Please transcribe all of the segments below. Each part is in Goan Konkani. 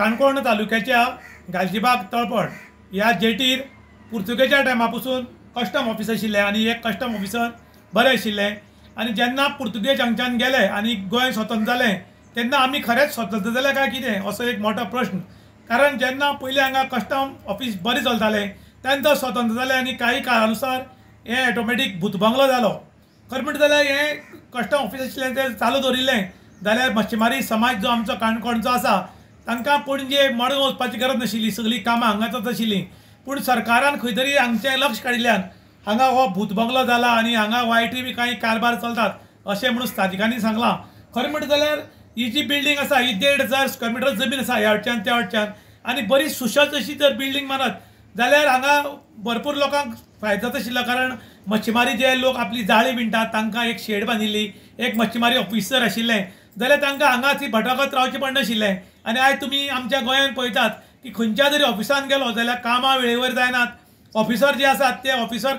काणकोण तालुक्याच्या गालजीबाग तळपण ह्या जेटीर पुर्तुगेजा टायमा पसून कस्टम ऑफिस आशिल्लें आनी एक कस्टम ऑफिसर बरें आशिल्लें. आनी जेन्ना पुर्तुगेज हांगच्यान गेले आनी गोंय स्वतंत्र जालें तेन्ना आमी खरेंच स्वतंत्र जाले काय कितें असो एक मोठो प्रश्न. कारण जेन्ना पयलीं हांगा कस्टम ऑफिस बरें चलतालें तेन्ना स्वतंत्र जालें आनी काही काळानुसार हें ऑटोमॅटीक भूतबंगलो जालो. खरें म्हणटा जाल्यार हें कस्टम ऑफिस आशिल्लें तें चालू दवरिल्लें जाल्यार मच्छीमारी समाज जो आमचो काणकोणचो आसा तांकां पणजे मडगांव वचपाची गरज नाशिल्ली, सगळीं कामां हांगाच आशिल्लीं. पूण सरकारान खंय तरी हांगचें लक्ष काडिल्ल्यान हांगा हो भूतबंगलो जाला आनी हांगा वायटय बी कांय कारभार चलतात अशें म्हणून स्थानिकांनी सांगलां. खरें म्हणटा जाल्यार ही जी बिल्डींग आसा ही 1500 स्क्वेअर मिटर जमीन आसा ह्या वटच्यान त्या वटच्यान आनी बरी सुशेग अशी जर बिल्डींग मारत जाल्यार हांगा भरपूर लोकांक फायदो जाता आशिल्लो. कारण मच्छीमारी जे लोक आपली जाळी विणटात तांकां एक शेड बांदिल्ली, एक मच्छीमारी ऑफिसर आशिल्लें जाल्यार तांकां हांगा ती भटकत रावचें पडनाशिल्लें. आनी आयज तुमी आमच्या गोंयांत पळयतात की खंयच्या तरी ऑफिसान गेलो जाल्यार कामां वेळेवर जायनात, ऑफिसर जे आसात ते ऑफिसर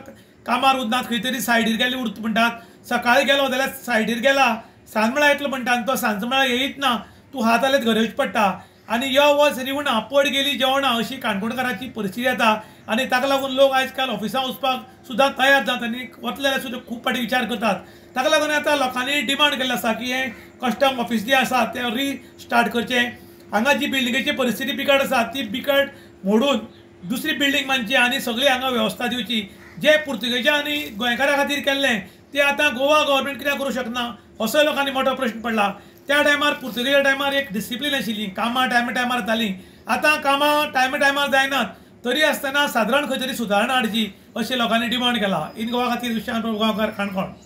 कामार उरनात, खंय तरी सायडीर गेले उरता म्हणटात. सकाळी गेलो जाल्यार सायडीर गेला सांज वेळार येतलो म्हणटा आनी तो सांज वेळार येयत ना, तूं हात हालयत घरा वचचें पडटा. आनी यो वच रिवणां पड गेली जेवणां अशी काणकोणकाराची परिस्थिती येता आनी ताका लागून लोक आयज काल ऑफिसां वचपाक सुद्दां तयार जातात आनी वतले जाल्यार सुद्दां खूब फावटी विचार करतात. ताका लागून आतां लोकांनी डिमांड केल्ली आसा की हें कस्टम ऑफिस जें आसा तें रिस्टार्ट करचें. हांगा जी बिल्डिंगेची परिस्थिती बिकट आसा ती बिकट मोडून दुसरी बिल्डींग बांदची आनी सगळी हांगा वेवस्था दिवची. जे पुर्तुगेजा आनी गोंयकारां खातीर केल्लें तें आतां गोवा गव्हर्मेंट कित्याक करूंक शकना असोय लोकांनी मोठो प्रश्न पडला. त्या टायमार पुर्तुगेजा टायमार एक डिसिप्लीन आशिल्ली, कामां टायमा टायमार जातालीं. आतां कामां टायमा टायमार जायनात तरी आसतना सादारण खंय तरी सुदारणा हाडची अशें लोकांनी डिमांड केला. इन गोवा खातीर विश्वास प्रभुगांवकार, काणकोण.